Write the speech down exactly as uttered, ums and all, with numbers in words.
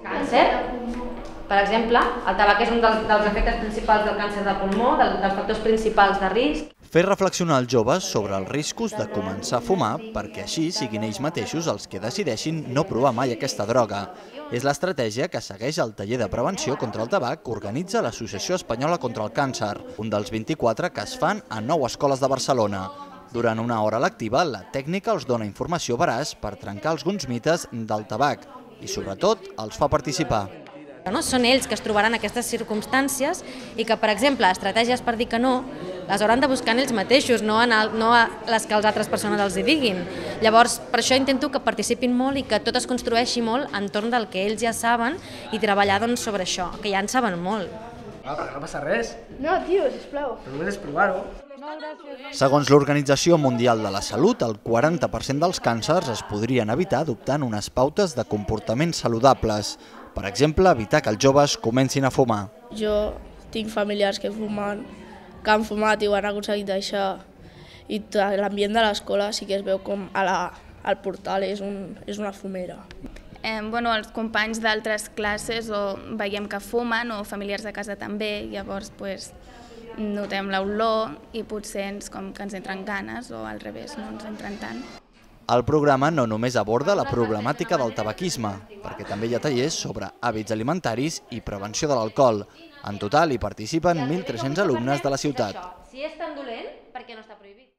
Càncer, per exemple, el tabac és un dels, dels efectes principals del càncer de pulmó, del, dels factors principals de risc. Fer reflexionar els joves sobre els riscos de començar a fumar perquè així siguin ells mateixos els que decideixin no provar mai aquesta droga. És l'estratègia que segueix el taller de prevenció contra el tabac que organitza l'Associació Espanyola contra el Càncer, un dels vint-i-quatre que es fan a nou escoles de Barcelona. Durant una hora lectiva, la tècnica els dona informació veraç per trencar alguns mites del tabac i, sobretot, els fa participar. No? Són ells que es trobaran aquestes circumstàncies i que, per exemple, estratègies per dir que no, les hauran de buscar en ells mateixos, no, en el, no a les que les altres persones els hi diguin. Llavors, per això intento que participin molt i que tot es construeixi molt entorn del que ells ja saben i treballar doncs, sobre això, que ja en saben molt. Ah, perquè no passa res. No, tio, sisplau. Però només és provar-ho. Segons l'Organització Mundial de la Salut, el quaranta per cent dels càncers es podrien evitar adoptant unes pautes de comportaments saludables. Per exemple, evitar que els joves comencin a fumar. Jo tinc familiars que fumen, que han fumat i ho han aconseguit deixar. I l'ambient de l'escola sí que es veu com a la, al portal és, un, és una fumera. Eh, bueno, els companys d'altres classes o veiem que fumen o familiars de casa també, llavors pues, notem l'olor i potser ens, com que ens entren ganes o al revés, no ens entren tant. El programa no només aborda la problemàtica del tabaquisme, perquè també hi ha tallers sobre hàbits alimentaris i prevenció de l'alcohol. En total hi participen mil tres-cents alumnes de la ciutat. Si és tan dolent, per què no està prohibit?